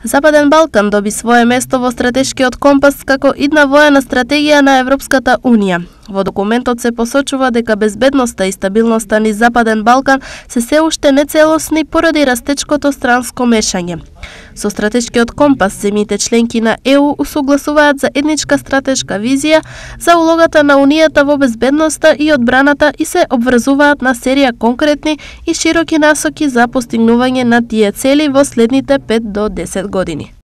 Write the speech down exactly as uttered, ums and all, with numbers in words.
Западен Балкан доби свое место во стратешкиот компас како идна воена стратегија на Европската Унија. Во документот се посочува дека безбедноста и стабилноста низ Западен Балкан се се уште нецелосни поради растечкото странско мешање. Со стратешкиот компас, земјите членки на Е У усогласуваат заедничка стратешка визија за улогата на Унијата во безбедноста и одбраната и се обврзуваат на серија конкретни и широки насоки за постигнување на тие цели во следните пет до десет години.